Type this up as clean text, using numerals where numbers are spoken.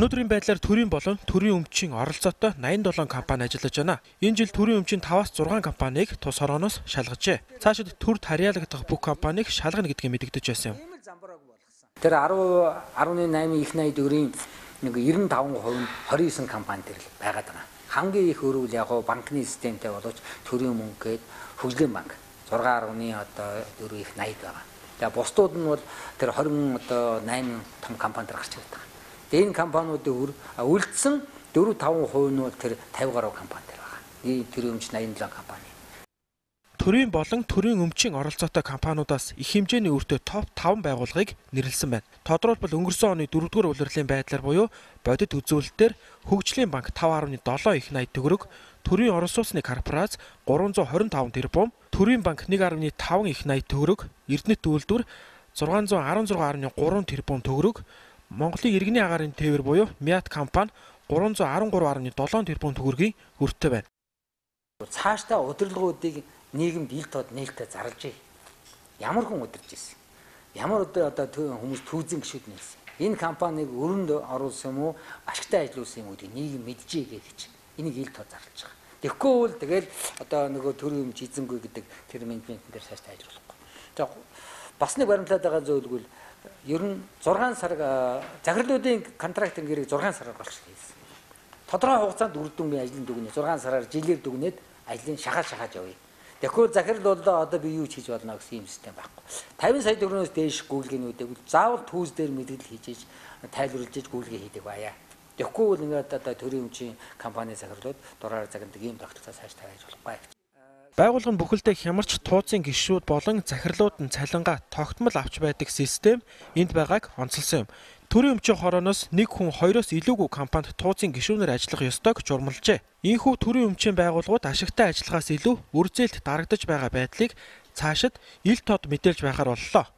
Өнөөдрийн байдлаар төрийн болон төрийн өмчийн оролцоотой 87 компани ажиллаж байна. Энэ жил төрийн өмчийн 5-6 компанийг тус хорооноос шалгажээ. Цаашид төрд харьяалагдах бүх компанийг шалгана гэдгийг мэдэгдэж байсан юм. Тэр 10.8 их найдварын 95% нь 29 компани төр байгаад байна. Хамгийн их өрөвл яг банкны системтэй боловч төрийн мөнгө гээд хөгжлийн банк 6.4 их найд байгаа. Тэгээ бусдууд нь бол тэр 28 том компани төр гарч ирдэг. Энэ компаниудын үлдсэн 4-5% нь бол тэр 50 гаруй компани төр байгаа. Ийм төрийн өмч 87 компани. Төрийн болон төрийн өмчийн оролцоотой компаниудаас их хэмжээний өртөө топ 5 байгууллагыг нэрлсэн байна. Тодорхойлбол өнгөрсөн оны 4-р улирлын байдлаар буюу бодит үзүүлэлтээр Хөгжлийн банк 5.7 их найд төгрөг, төрийн орон сууцны корпорац 325 тэрбум, төрийн банк 1.5 их найд төгрөг, Эрдэнэт үйлдвэр 616.3 тэрбум төгрөг, Монголын иргэний агаарын тээвэр буюу Мят компани 313.7 тэрбум төгрөгийн өртөө байна. Цаашдаа удирдлагуудыг нийгэмд ил тод нээлттэй зарлж ий. Ямар хүн удирж ирсэн? Ямар одоо хүмүүс түүзэн гişүүд нээсэн? Энэ компанийг өрөнд оруулсан юм уу? Ашигтай ажиллуулсан юм уу гэдгийг нийгэм мэдчихье гэж энийг ил тод зарлж байгаа. Тэгэхгүй бол тэгэл одоо нөгөө төрийн өмч эзэнгүй гэдэг тэр менежмент дээр цаашдаа ажиллахгүй. За бас нэг баримтлаад байгаа зөвлөгөл ер нь 6 сар захирлуудын контрактын гэрийг 6 сараар болчихсон хийсэн. Тодорхой хугацаанд үр дүнгийн ажлын дүгнээ 6 сараар жилээр дүгнээд ажлын шахаж явъя. Тэгэхээр захирал бол одоо би юу ч хийж болно гэсэн юм систем байхгүй. 50 сая төгрөгөөс дээш гүйлгээнүүдийг заавал түүс дээр мэдээлэл хийж тайлбарлаж гүйлгээ хийдэг байя. Тэгэхгүй бол ингээд одоо төрийн өмчийн компани захирлууд дураар загнадаг ийм тогтолцоо цааш тавиаж болохгүй. Байгууллага нь бүхэлдээ хямарч тууцын гишүүд болон захирлууд нь цалингаа тогтмол авч байдаг систем энд байгааг онцолсон юм. Төрийн өмчийн хорооноос нэг хүн 2-оос илүүгүй компанид тууцын гишүүнээр ажиллах ёстойг журмалжээ. Ийхүү төрийн өмчийн байгууллагууд ашигтай ажиллахаас илүү үр зээлд дарагдаж байгаа байдлыг цаашид ил тод мэдээлж байхаар боллоо.